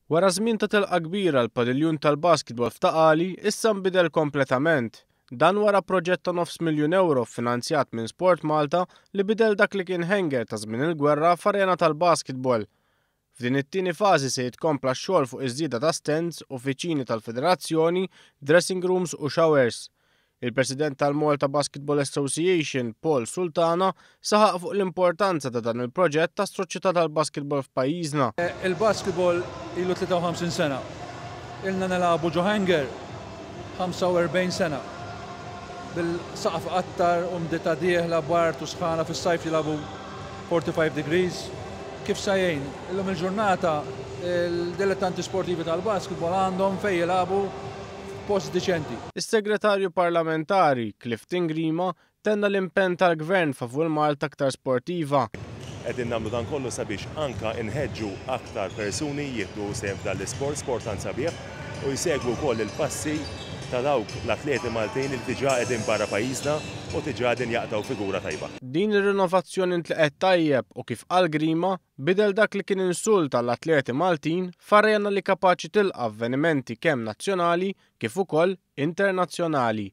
Wara żmien ta' telqa kbira l-padiljun tal-basketball f'Ta' Qali issa nbidel kompletament. Dan wara proġett ta' nofs miljun ewro ffinanzjat minn Sport Malta li bidel dak li kien hangar ta' żmien il-gwerra f'arena tal-basketball. F'din it-tieni fażi se jitkompla x-xogħol fuq iż-żieda ta' stands, uffiċini tal-federazzjoni, dressing rooms u showers. Il-President tal-Malta Basketball Association, Paul Sultana, saħaq fuq l-importanza ta' dan il-proġett għas-soċjetà tal-basketball f'pajjiżna. Il-basketball ilu 53 sena. Ilna nilagħbu ġo hangar 45 sena. Bil-saqaf iqattar, umdità dieħla, bard u sħana fis-sajf jilagħbu 45 degrees. Kif sa jgħin? Illum il-ġurnata il-dilettanti sportivi tal-basketball għandhom fejn jilagħbu f'post diċenti. Is-Segretarju Parlamentari, Clifton Grima, tenna l-impenn tal-Gvern favur Malta aktar sportiva. Qegħdin nagħmlu dan kollu sabiex anka nħeġġu aktar persuni jieħdu sehem f'dan l-isport, sport tant sabiħ, u jsegwu wkoll il-passi ta' dawk l-atleti Maltin li diġà qegħdin barra pajjiżna u diġà qegħdin jaqtgħu figura tajba. Din ir-rinovazzjoni ntlaqgħet tajjeb u kif qal Grima, Bidel dak li kien insult għall-atleti Maltin f'arena li kapaċi tilqa' avvenimenti kemm nazzjonali kif ukoll internazzjonali.